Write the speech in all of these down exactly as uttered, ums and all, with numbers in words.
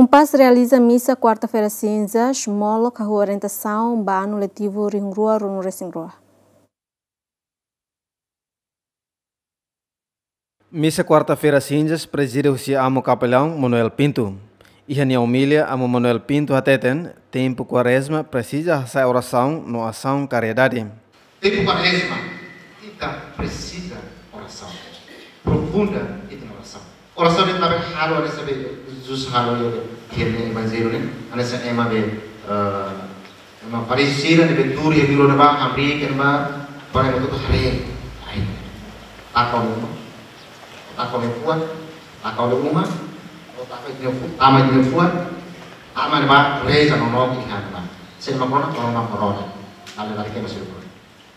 UNPAZ realiza misa kuarta-feira sinzas, molok hahú orientasaun ba anu letivu rihun rua ruanulu resin rua. Misa kuarta-feira sinzas prezide husi Amu Kapelaun Manuel Pinto. Iha nia omilia, Amu Manuel Pinto hateten, tempu Kuarezma presiza hasa'e orasaun no asaun karidade. Tempu Kuarezma, ita presiza orasaun. Profunda ita-nia orasaun. Orasaun ne'e ita labele halo, ita sabe, Jesus halo iha be, iha nia Evanjellu ne'e, hanesan ema be, eh, ema Farisi sira ne'ebé tuur iha vila ne'ebá, hamriik iha ne'ebá, para ema hotu haree. Ai. Taka uma. Taka uma fuan, taka uma, taka nia fu-, tama nia fuan, tama ne'ebá reza no no iha ne'ebá. Se ema kona, kona ema kona. Lari-lari ke masuk.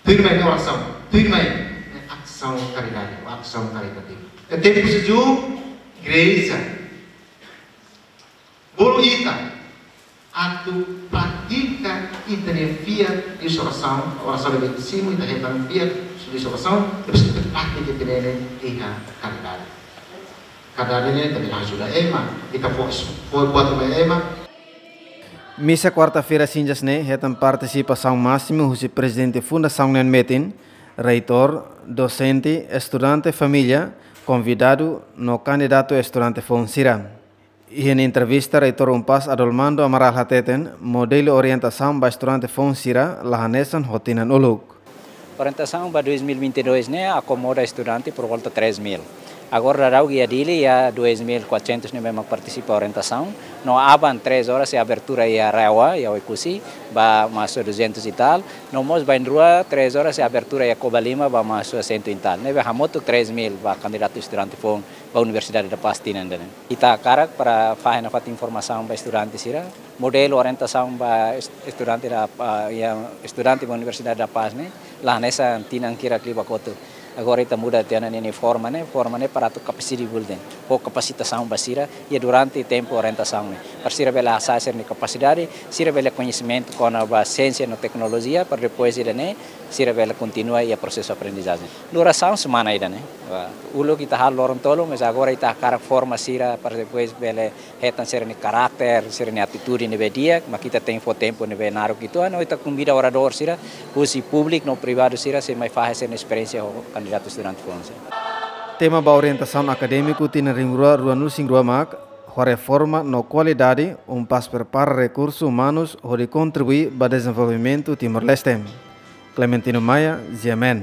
Tuirmai ne'e orasaun, tuirmai ne'e asaun karidade, asaun karidade. Ke tempu sejuk, igreja, bolu ita atu pratika ita-nia fiar liuhusi orasaun, orasaun ne'ebé simu ita hetan fiar liuhusi orasaun, depois ita pratika ita-nia iha karidade. Karidade ne'e ita bele ajuda ema, ita fó, fó buat ba ema. Misa kuarta-feira sinzas ne'e hetan partisipasaun másimu husi prezidente fundasaun nian metin, reitór, dosente, estudante, família, konvidadu no kandidatu estudante foun sira. Iha nia entrevista, Reitór UNPAZ Adolmando Amaral hateten, modelu orientasaun ba estudante foun sira la hanesan ho tinan uluk. Orientasaun ba dois mil e vinte e dois ne'e akomoda estudante por volta três mil. Agora daudaun iha Dili iha dois mil e quatrocentos ne'ebé mak partisipa orientasaun. No aban três horas iha abertura iha RAEOA, iha Oekusi, ba mahasiswa duzentos e tal. No mós bainrua três horas iha abertura iha Covalima, ba mahasiswa cento e tal. Ne'ebé hamutuk três mil ba kandidatu estudante foun ba Universidade da Paz tinan ida-ne'e. Ita hakarak para fahe nafatin informasaun ba estudante sira, modelu orientasaun ba est-, estudante da, ah, iha estudante ba Universidade da Paz ne'e, la hanesan tinan hirak liubá kotuk. Agora ita muda tiha ona ninia forma ne'e, forma ne'e para atu kapasita bulten, fó kapasitasaun ba sira, iha durante tempu orientasaun ne'e. Para sira bele hasa'e sira-nia kapasidade, sira bele koñesimentu kona-ba siénsia no teknolojia, para depois ida-ne'e, sira bele kontinua iha prosesu aprendizajen. Durasaun semana ida-ne'e. Ba, uluk ita halo loron tolu, mas agora ita hakarak forma sira para depois bele hetan sira-nia karakter, sira-nia atitude ne'ebé di'ak, mak ita tenke fó tempu ne'ebé naruk uitoan, no ita konvida oradór sira, husi públiku no privadu sira, sei mai fahe sira-nia esperiénsia ho kandidatu estudante foun sira. Tema ba orientasaun akadémiku tinan rihun rua ruanulu resin rua mak, ho reforma no kualidade, UNPAZ prepara rekursu umanus hodi kontribui ba dezenvolvimentu Timor-Leste. Clementino Maia, G M N.